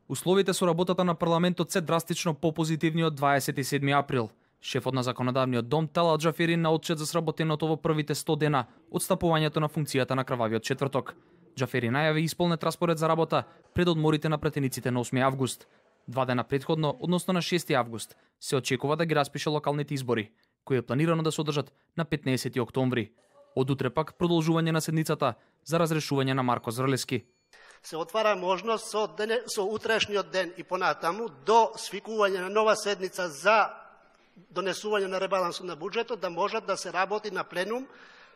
Условите со работата на парламентот се драстично попозитивни од 27 април. Шефот на законодавниот дом Талат Џафери на отчет за сработеното во првите 100 дена од стапувањето на функцијата на крвавиот четврток. Џафери најави исполнет распоред за работа пред одморите на пратениците на 8 август. 2 дена претходно, односно на 6 август, се очекува да ги распише локалните избори, кои е планирано да се одржат на 15 октомври. Од утре пак продолжување на седницата за разрешување на Марко Зрлески. Се отвара можност со утрешниот ден и понатаму до свикување на нова седница за донесување на ребалансот на буџетот да може да се работи на пленум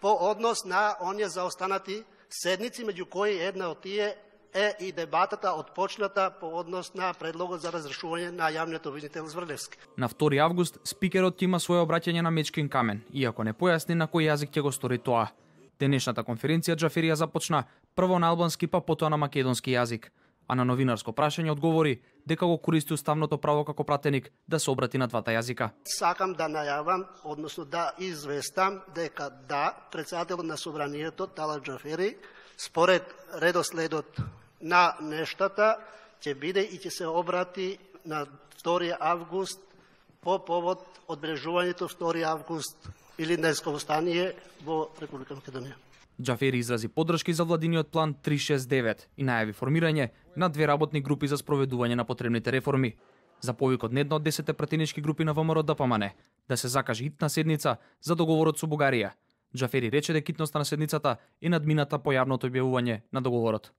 по однос на оние заостанати седници, меѓу кои една од тие е и дебатата отпочната по однос на предлогот за разрешување на јавниот обвинител Зрлевски. На 2 август спикерот има свое обраќање на Мечкин камен, иако не појасни на кој јазик ќе го стори тоа. Денешната конференција Џафери ја започна прво на албански, па потоа на македонски јазик, а на новинарско прашање одговори дека го користи уставното право како пратеник да се обрати на двата јазика. Сакам да најавам, односно да известам дека да, председателот на собранието Талат Џафери според редоследот на нештата ќе биде и ќе се обрати на 2 август по повод одбележувањето 2 август или Илинденско востание во Република Македонија. Џафери изрази поддршки за владиниот план 369 и најави формирање на 2 работни групи за спроведување на потребните реформи. За повик од една од 10 пратенички групи на ВМРО ДПМН да се закаже хитна седница за договорот со Бугарија. Џафери рече дека хитноста на седницата е надмината по јавното објавување на договорот.